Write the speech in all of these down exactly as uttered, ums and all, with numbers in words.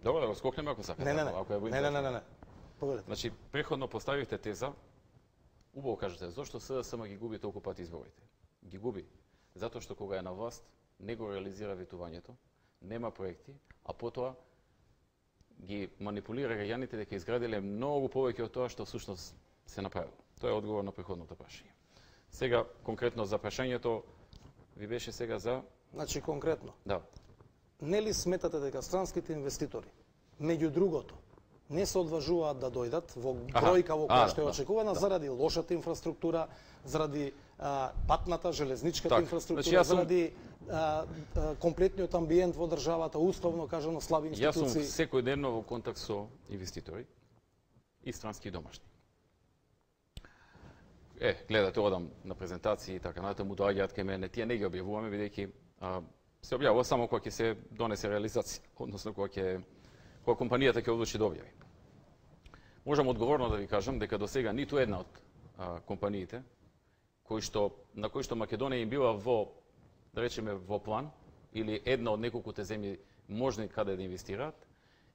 Добро, да го скокнеме ако сакате. Не, не, не. Ако е не, не, не, не, не. Поведете. Значи, преходно поставивте теза, убаво кажете, зошто СДСМ ги губи толку пати изборите? Ги губи затоа што кога е на власт, не го реализира ветувањето, нема проекти, а потоа ги манипулира граѓаните дека изградиле многу повеќе од тоа што всушност се направило. Тоа е одговор на преходното прашање. Сега, конкретно за прашањето, ви беше сега за... Значи, конкретно. Да. Нели сметате дека странските инвеститори, меѓу другото, не се одважуваат да дојдат во бројка во која што е очекувана да. заради лошата инфраструктура, заради а, патната, железничката так. инфраструктура, значи, сум... заради а, а, комплетниот амбиент во државата, условно кажано слаби институции. Јас сум секојдневно во контакт со инвеститори и странски и домашни. Е, гледате, одам на презентации и така натаму, доаѓаат кај мене, тие не ги објавуваме бидејќи се објавува само кога ќе се донесе реализација, односно кога ќе кога компанијата ќе одлучи да објави. Можам одговорно да ви кажам дека до сега ниту една од а, компаниите кои што на кои што Македонија им била во, да речеме, во план или една од неколкуте земји можни каде да инвестираат,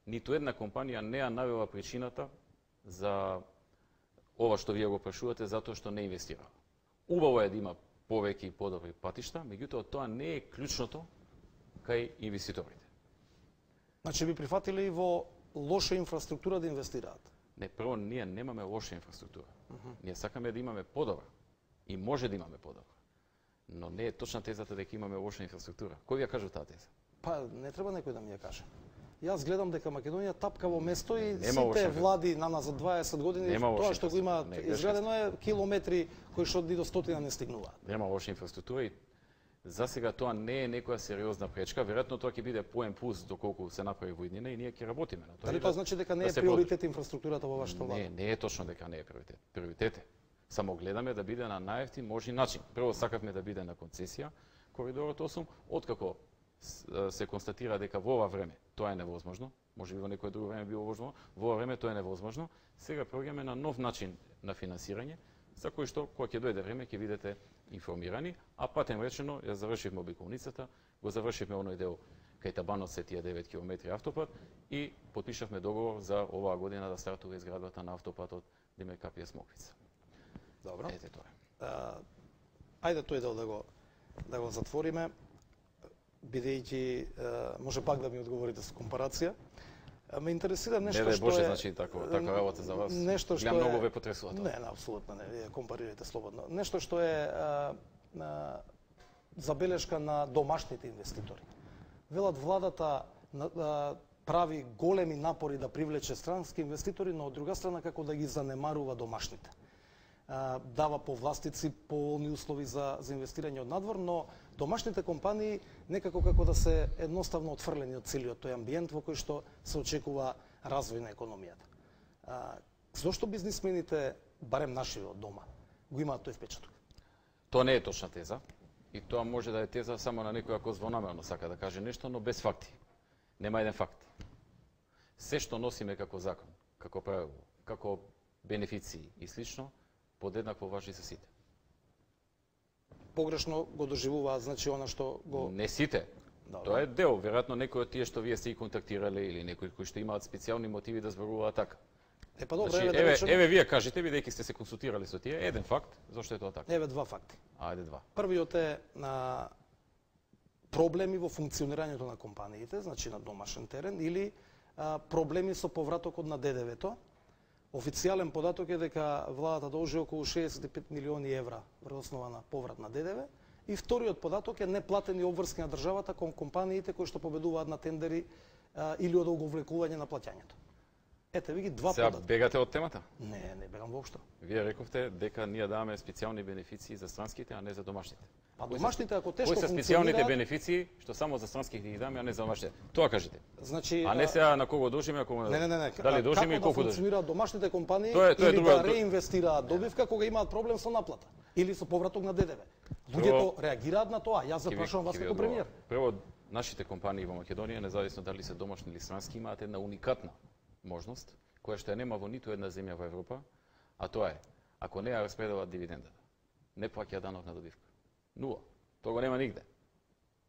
ниту една компанија не ја навела причината за ова што вие го прашувате затоа што не инвестира. Убаво е да има повеќе и подобри патишта, меѓутоа тоа не е клучното кај инвеститорите. Значи би прифатиле и во лоша инфраструктура да инвестираат? Не, прво ние немаме лоша инфраструктура. Uh -huh. Ние сакаме да имаме подобра и може да имаме подобра. Но не е точна тезата дека имаме лоша инфраструктура. Кој ви ја кажа таа теза? Па не треба некој да ми ја каже. Јас гледам дека Македонија тапка во место и нема сите влади на назад дваесет години тоа што го имаат изградено е километри кои што ни до стотина не стигнуваат. Нема лоша инфраструктура и за сега тоа не е некоја сериозна пречка, веројатно тоа ќе биде поен плюс доколку се направи во иднина и ние ќе работиме на тоа. Дали тоа значи дека не е приоритет инфраструктурата во вашата влада? Не, не е точно дека не е приоритет. Приоритет е. Само гледаме да биде на најевтин можни начин. Прво сакавме да биде на концесија коридорот осум, откако се констатира дека во ова време тоа е невозможно, може би во некое друго време било возможно, во ова време тоа е невозможно, сега проѓаме на нов начин на финансирање, за кој што кога ќе дојде време ќе видите информирани, а патем речено ја завршивме обиколницата, го завршивме оној дел кај Табанот се тие девет километри автопат и потпишавме договор за оваа година да стартува изградбата на автопатот Димер Капија Смоквица. Добро. Ете тоа е. А, ајде тој дел да го да го затвориме, бидејќи може пак да ми одговорите со компарација. Ме интересира нешто не, што Боже, е... значи, тако, така работа за вас. Нешто што ја многу е... ве потресува тоа. Не, не, апсолутно не, вие компарирате слободно. Нешто што е а, а, забелешка на домашните инвеститори. Велат владата а, прави големи напори да привлече странски инвеститори, но од друга страна како да ги занемарува домашните. А, дава повластици, поволни услови за, за инвестирање од надвор, но домашните компании некако како да се едноставно отфрлени од целиот тој амбиент во кој што се очекува развој на економијата. А, зошто бизнисмените, барем наши од дома, го имаат тој впечаток? Тоа не е точна теза и тоа може да е теза само на некој ако звонамерно сака да каже нешто, но без факти. Нема еден факт. Се што носиме како закон, како правило, како бенефиции и слично, подеднакво важи за сите. Погрешно го доживуваат, значи она што го... Не сите. Добре. Тоа е дел. Веројатно некои од тие што вие сте и контактирале или некои кои што имаат специјални мотиви да зборуваат така. Е, па добре, значи, еве, еве, да речем... еве вие кажете, бидејќи сте се консултирали со тие, еден факт, зошто е тоа така? Еве два факти. Ајде два. Првиот е на проблеми во функционирањето на компаниите, значи на домашен терен, или а, проблеми со повратокот на Д Д В-то. Официјален податок е дека владата должи околу шеесет и пет милиони евра врз основа на поврат на Д Д В. И вториот податок е неплатени обврски на државата кон компаниите кои што победуваат на тендери а, или од оговлекување на плаќањето. Ете ви ги два Сега податка. бегате од темата? Не, не бегам воопшто. Вие рековте дека ние даваме специјални бенефиции за странските, а не за домашните. А домашните ако тешко функционираат... Кои се специјалните бенефиции што само за странските ги даваме, а не за домашните? Тоа кажете. Значи, а не сега на кого дожиме, ако не, не, не, не. Дали дожиме и колку да дожиме? функционираат домашните компании тоа е, тоа е или друга... да реинвестираат добивка кога имаат проблем со наплата или со повраток на Д Д В. Луѓето реагираат на тоа. Јас запрашувам вас како премиер. Прво, нашите компании во Македонија, независно дали се домашни или странски, имаат една уникатна можност која што ја нема во ниту една земја во Европа, а тоа е, ако не ја распределат дивидендата, не плаќа данок на добивка. Нула. Тоа го нема нигде.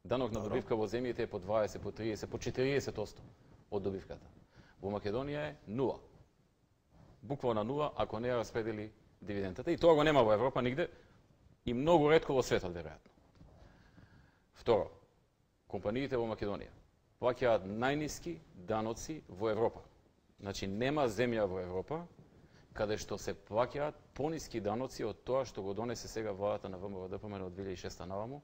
Данок на добивка во земјите е по дваесет, по триесет, по четириесет одсто од добивката. Во Македонија е нула. Буквално нула ако не ја распредели дивидендата. И тоа го нема во Европа нигде и многу ретко во светот, веројатно. Второ, компаниите во Македонија плаќаат најниски даноци во Европа. Значи, нема земја во Европа каде што се плаќаат пониски даноци од тоа што го донесе сега владата на ВМВД од две илјади и шеста наваму,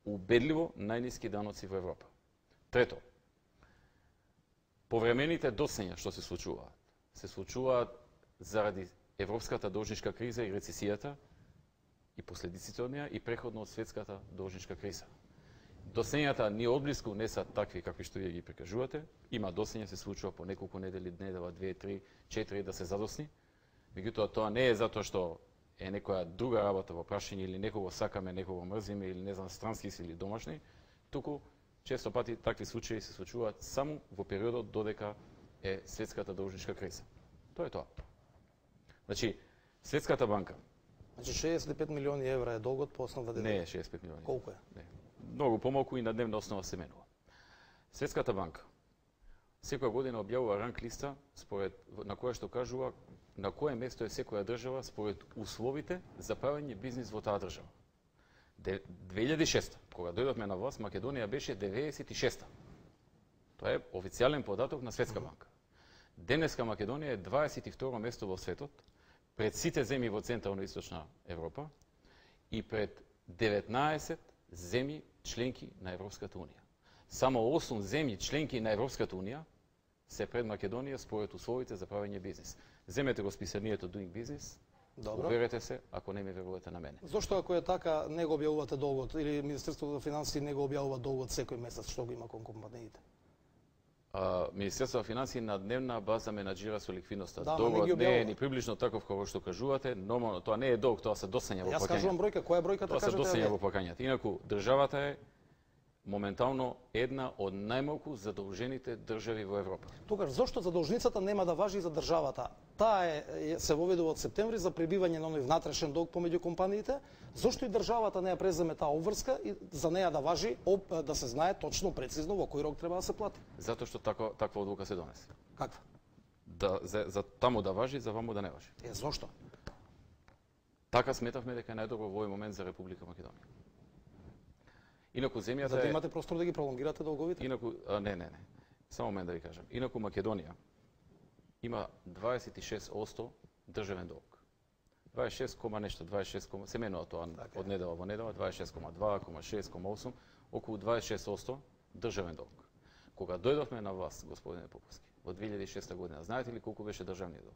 убедливо најниски даноци во Европа. Трето, повремените досења што се случуваат, се случуваат заради европската должничка криза и рецесијата и последиците од неа и преходно од светската должничка криза. Досењата ни одблиску не се такви какви што вие ги прикажувате. Има досења се случува по неколку недели, недела, две, три, четири да се задосни. Меѓутоа тоа не е затоа што е некоја друга работа во прашање или некого сакаме, некого мрзиме или не знам странски си или домашни, туку често пати такви случаи се случуваат само во периодот додека е светската должничка криза. Тоа е тоа. Значи, Светската банка. Значи шеесет и пет милиони евра е долгот по основа ДДВ. Не е шеесет и пет милиони. Колку е? Не. Многу помалку и на дневна основа се менува. Светската банка секоја година објавува ранг листа според на која што кажува на кое место е секоја држава според условите за правење бизнис во таа држава. две илјади и шеста, кога дојдовме на власт, Македонија беше деветдесет и шеста. Тоа е официјален податок на Светска банка. Денеска Македонија е дваесет и второ место во светот, пред сите земји во Централна и Источна Европа и пред деветнаесет земји членки на Европската унија. Само осум земји членки на Европската унија се пред Македонија според условите за правење бизнис. Земете го списанието Doing Business, Добро. Уверете се, ако не ме верувате на мене. Зошто ако е така не го објавувате долгот или Министерството за финансии не го објавува долгот секој месец, што го има кон компаниите? А, Министерството за финансии на дневна база менаџира со ликвидноста. Да, Долгот не, не е ни приближно таков како што кажувате, нормално тоа не е долг, тоа се досења во Јас плаќањето. кажувам бројка, која е бројката Тоа се кажете? досења во плаќањето. Инаку државата е моментално една од најмалку задолжените држави во Европа. Тогаш зошто задолжницата нема да важи за државата? Таа е се воведува од септември за прибивање на оној внатрешен долг помеѓу компаниите. Зошто и државата не ја преземе таа обврска и за неја да важи, да се знае точно прецизно во кој рок треба да се плати? Затоа што тако, таква одлука се донесе. Каква? Да, за, за таму да важи, за ваму да не важи. Е, зошто? Така сметавме дека е најдобро во овој момент за Република Македонија. Инаку земјата За да е... имате простор да ги пролонгирате долговите? Инаку, а, не, не, не. Само момент да ви кажам. Инаку Македонија има дваесет и шест одсто државен долг. дваесет и шест кома нешто, дваесет и шест, се менува тоа така од недела во недела, дваесет и шест кома два, шест, осум, околу дваесет и шест одсто државен долг. Кога дојдовме на власт, господине Поповски, во две илјади и шеста година, знаете ли колку беше државниот долг?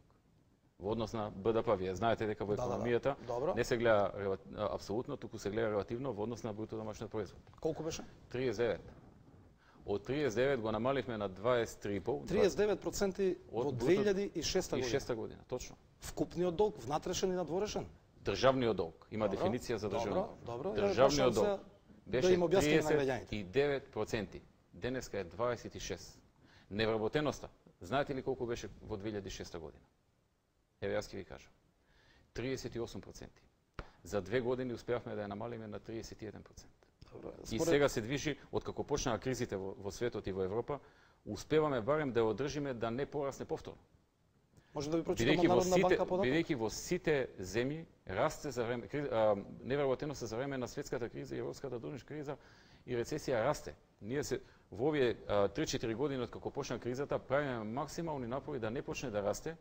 Во однос на БДП, вие знаете дека во економијата да, да. не се гледа апсолутно, туку се гледа релативно во однос на бруто домашниот производ. Колку беше? триесет и девет. Од триесет и девет го намаливме на дваесет и три и пол. триесет и девет проценти во две илјади и шеста година. И шеста година, точно. Вкупниот долг, внатрешен и надворешен? Државниот долг. Има Добро, дефиниција за државниот долг. Добро, Државниот долг беше да им објасниме на триесет и девет проценти. Денеска е дваесет и шест. Невработеноста. Знаете ли колку беше во две илјади и шеста година? Еве јас ќе ви кажам. триесет и осум проценти. За две години успеавме да ја намалиме на триесет и еден проценти. Добро, според... И сега се движи, откако почнаа кризите во, во светот и во Европа, успеваме барем да ја одржиме да не порасне повторно. Може да ви прочитам од Народна банка податок? Бидејќи во сите земји расте за време невработеноста за време на светската криза и европската должничка криза и рецесија расте. Ние се во овие три-четири години откако почна кризата правиме максимални напори да не почне да расте.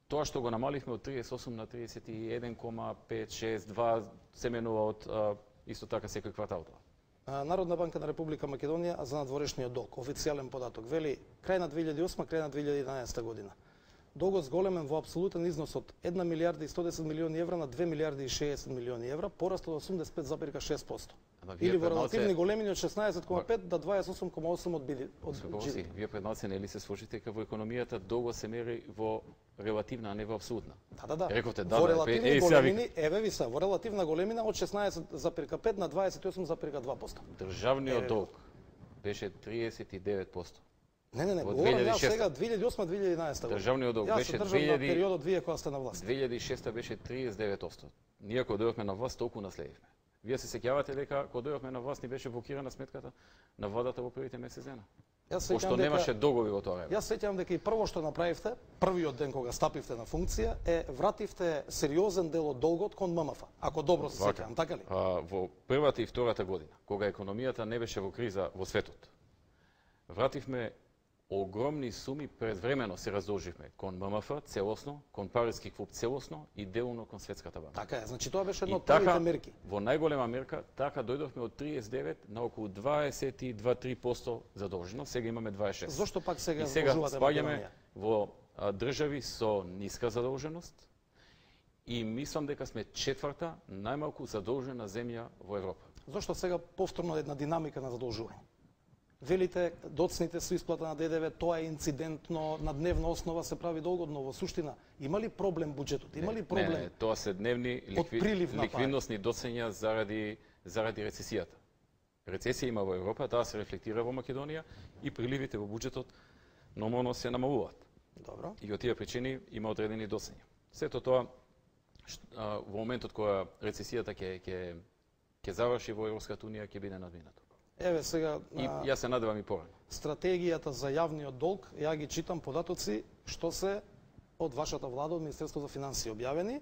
Тоа што го намаливме од триесет и осум на триесет и еден кома пет шест два се менува од а, исто така секој квартал тоа. Народна банка на Република Македонија за надворешниот долг, официјален податок, вели крај на две илјади и осма, крај на две илјади и еднанаесета година. Долгот зголемен во апсолутен износ од една милијарда и сто десет милиони евра на две милијарди и шеесет милиони евра, пораст од осумдесет и пет зарез и шест проценти. Или во релативни големини од шеснаесет кома пет до дваесет и осум кома осум од биди од джи ди пи. Вие пред нас нели се сложите дека во економијата долго се мери во релативна, а не во апсолутна. Да, да, да. Рековте да, во да, релативни е, големини, еве ви се, во релативна големина од шеснаесет зарез и пет на дваесет и осум зарез и два проценти. Државниот долг беше триесет и девет проценти. Не, не, не, говорам јас сега две илјади и осма две илјади и еднанаесета година. Државниот долг беше две илјади на периодот вие кога сте на власт. две илјади и шеста беше триесет и девет проценти. Ние кога дојдовме на власт толку наследивме. Вие се сеќавате дека кога дојдовме на власт ни беше блокирана сметката на водата во првите месец дена. Пошто дека... немаше договор во тоа време. Јас сеќавам дека и прво што направивте, првиот ден кога стапивте на функција, е вративте сериозен дел од долгот кон ММФ. Ако добро се сеќавам, така ли? А, во првата и втората година, кога економијата не беше во криза во светот, вративме огромни суми, предвремено се раздолживме кон ММФ целосно, кон Париски клуб целосно и делно кон Светската банка. Така е, значи тоа беше една од првите мерки. Во најголема мерка, така дојдовме од триесет и девет на околу дваесет и два до три проценти задолженост, сега имаме дваесет и шест. Зошто пак сега и сега задолжувате спаѓаме Македонија? во а, држави со ниска задолженост и мислам дека сме четврта најмалку задолжена земја во Европа. Зошто сега повторно една динамика на задолжување? Велите, доцните со исплата на ДДВ, тоа е инцидентно, на дневна основа се прави долгодно. Во суштина, има ли проблем буџетот? Има ли проблем? Не, не, тоа се дневни ликви... ликвидносни доцења заради, заради рецесијата. Рецесија има во Европа, таа се рефлектира во Македонија и приливите во буџетот нормално се намалуваат. Добро. И од тие причини има одредени доцења. Сето тоа, а, во моментот кога рецесијата ќе ќе ќе заврши во Европската унија, ќе биде надминато. Еве сега и јас се надевам и порано. Стратегијата за јавниот долг, ја ги читам податоци што се од вашата влада, од Министерството за финансии објавени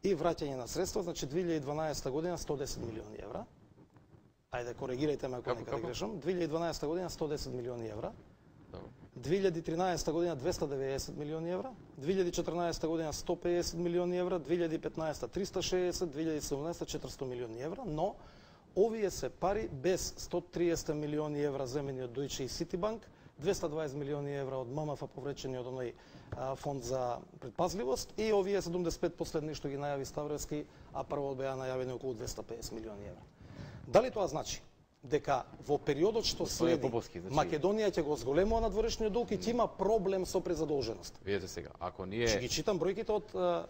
и враќање на средства, значи две илјади и дванаесета година сто и десет милиони евра. Ајде коригирајте ме ако некаде грешам. две илјади и дванаесета година сто и десет милиони евра. Добро. две илјади и тринаесета година двеста и деветдесет милиони евра, две илјади и четрнаесета година сто и педесет милиони евра, две илјади и петнаесета триста и шеесет, две илјади и седумнаесета четиристо милиони евра, но овие се пари без сто и триесет милиони евра земени од Deutsche и Citibank, двеста и дваесет милиони евра од ММФ повречени од оној а, фонд за предпазливост и овие седумдесет и пет последни што ги најави Ставровски, а прво беа најавени околу двеста и педесет милиони евра. Дали тоа значи дека во периодот што следи Поповски, значи... Македонија ќе го зголемува надворешниот долг и ќе има проблем со презадолженост? Видете сега, ако ние Ќе ги читам бројките од а,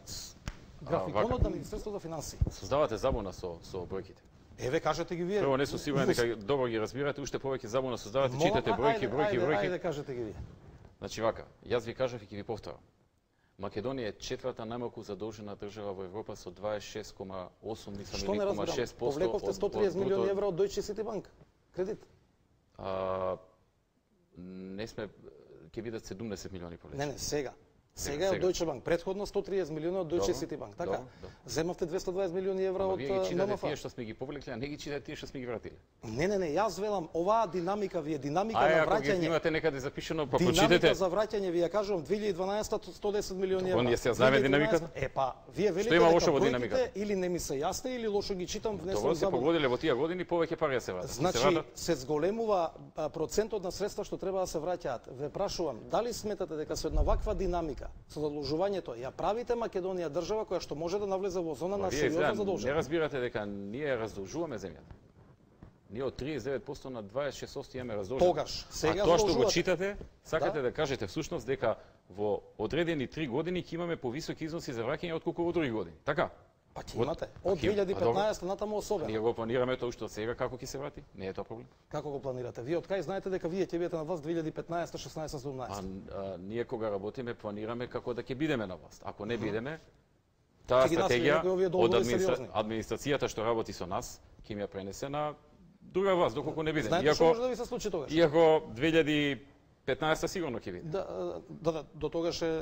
графиконот на Министерството за финансии. Создавате забуна со со бројките. Еве кажете ги вие. Прво не сум сигурен дека добро ги разбирате, уште повеќе забуна создавате, читате бројки, бројки, бројки. Ајде кажете ги вие. Значи вака, јас ви кажав и ќе ви повторам. Македонија е четврта најмалку задолжена држава во Европа со дваесет и шест кома осум, мислам, Што или не кома шест проценти. Повлековте сто и триесет милиони евра од Deutsche Citibank кредит. А, не сме, ќе видат седумдесет милиони полесно. Не, не, сега. Сега е од Deutsche Bank, предходно сто и триесет милиони од Deutsche Citibank, така? Земавте двеста и дваесет милиони евра од ММФ. Вие ги читате ММФ. тие што сме ги повлекли, а не ги читате тие што сме ги вратили. Не, не, не, јас велам, оваа динамика ви е динамика Ај, на ако враќање. ги имате некаде запишано, па Динамика прочитете. за враќање, ви ја кажувам, две илјади и дванаесета сто и десет милиони евра. Ние сега знаеме динамиката? Е, па, вие велите има дека лошо во бројките динамиката? или не ми се јасни, или лошо ги читам, внесувам Тоа се забуна. погодиле во тие години, повеќе пари се вратат. Значи, се зголемува а, процентот на средства што треба да се враќаат. Ве прашувам, дали сметате дека со една ваква динамика, со задолжувањето, ја правите Македонија држава која што може да навлезе во зона на сериозна Не задолженост? разбирате дека ние раздолжуваме земјата. Ние од триесет и девет проценти на дваесет и шест проценти имаме раздолжено. Тогаш, сега а тоа што го задолжувате. читате, сакате Да. да кажете всушност дека во одредени три години ќе имаме повисоки износи за враќање отколку во други години. Така? Па ќе Од- имате. а Од ќе- две илјади и а добро. петнаесета натаму особено. Ние го планираме тоа уште од сега како ќе се врати. Не е тоа проблем. Како го планирате? Вие од кај знаете дека вие ќе бидете на власт две илјади и петнаесета, шеснаесета, А, седумнаесета? а ние кога работиме планираме како да ќе бидеме на власт. Ако не бидеме, таа Ќе ги насвои стратегија некои овие од долгови администра... сериозни. администрацијата што работи со нас, ќе ми ја пренесе на друга власт доколку не бидеме. Знаете што може да ви се случи тогаш? Иако две илјади и петнаесета сигурно ќе биде. Да, да, да, до тогаш е, е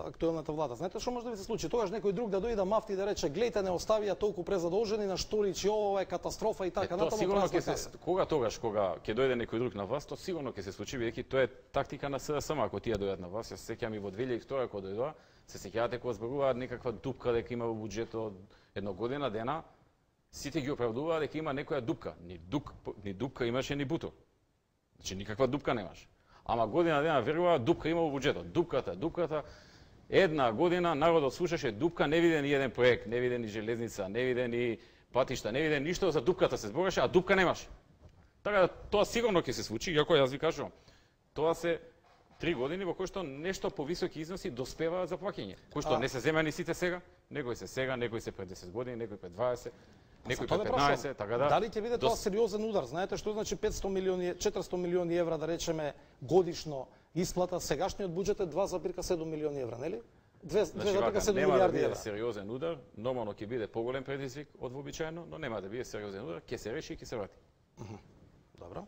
актуелната влада. Знаете што може да ви се случи? Тогаш некој друг да дојде да мафти и да рече гледајте не оставија толку презадолжени на Штурич, ова е катастрофа и така Тоа натаму сигурно празна ќе се каса. кога тогаш кога ќе дојде некој друг на власт, тоа сигурно ќе се случи бидејќи тоа е тактика на СДСМ ако тие дојдат на власт. Јас се сеќавам и во две илјади и втора кога дојдоа, се сеќавате кога зборуваат некаква дупка дека има во буџетот едно година дена, сите ги оправдуваа дека има некоја дупка. Ни дук, ни дупка имаше, ни бутор. Значи никаква дупка немаше. Ама година дена веруваа дупка има во буџетот. Дупката, дупката. Една година народот слушаше дупка, не виде ни еден проект, не виде ни железница, не виде ни патишта, не виде ништо, за дупката се збореше, а дупка немаше. Така да тоа сигурно ќе се случи, иако јас ви кажувам, тоа се три години во кои што нешто повисоки износи доспеваат за плаќање, кои што А... не се земени сите сега, некои се сега, некои се пред десет години, некои пред дваесет, некои Тоа пред ве петнаесет, прашувам, така да. Дали ќе биде тоа дос- сериозен удар? Знаете што значи петсто милиони, четиристо милиони евра да речеме годишно исплата, сегашниот буџет е два зарез седум милиони евра, нели? две Значи, зарез вака, седум нема да милиарди биде евра. сериозен удар, нормално ќе биде поголем предизвик од вообичаено, но нема да биде сериозен удар, ќе се реши и ќе се врати. Добро.